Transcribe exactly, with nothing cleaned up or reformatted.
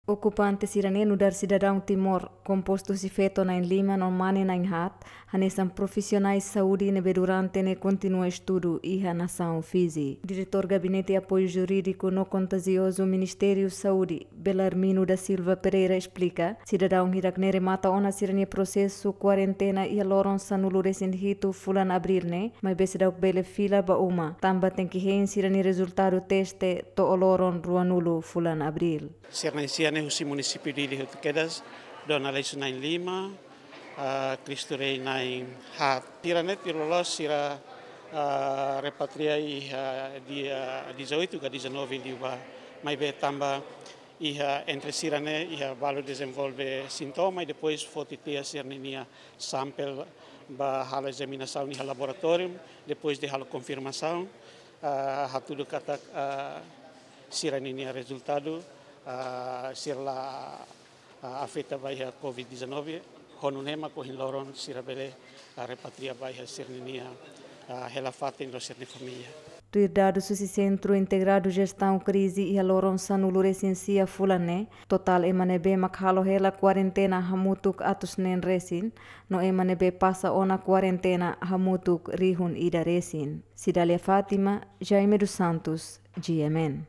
Okupante sira-ne'e nu'udar sidadaun Timor, kompostu husi feto na'in-lima no mane na'in-haat, hanesan profisionais saúde ne'ebé durante ne'e kontinua estudu iha nasaun Fiji. Diretór Gabinete Apoiu Jurídiku no Kontajiozu Ministériu Saúde, Belarmino da Silva Pereira esplika, sidadaun hirak-ne'e remata ona sira-nia prosesu kuarentena iha loron sanulu-resin-hitu fulan Abríl ne'e, maibé seidauk bele fila ba uma, tanba tenke hein sira-nia rezultadu teste to'o loron ruanulu fulan Abríl. Sira na'in-sia ne'e husi munisípiu Dili hotu kedas, Dona Aleixo na'in-lima, ah, Cristo Rei na'in-haat. Sira-ne'e tuir loloos sira, ah, repatria iha dia dezoito ka dezanove liubá. Maibé tanba iha entre sira-ne'e iha balu dezenvolve sintoma i depois foti tiha sira-ninia sampel ba halo ezaminasaun iha laboratóriu, depois de halo konfirmasaun, ah, hatudu katak, ah, sira-ninia rezultadu, ah, sira la, ah, afeta ba iha covid dezanove, ho nune'e mak ohin loron sira bele, ah, repatria ba iha sira-ninia, ah, hela-fatin no sira-nia família. Tuir dadus husi Sentru Integradu Jestaun Krize, iha loron sanulu-resin-sia fulan ne'e, totál ema ne'ebé mak halo hela kuarentena hamutuk atus neen resin, no ema ne'ebé pasa ona kuarentena hamutuk rihun ida resin. Cidália Fátima, Jaime dos Santos, G M N.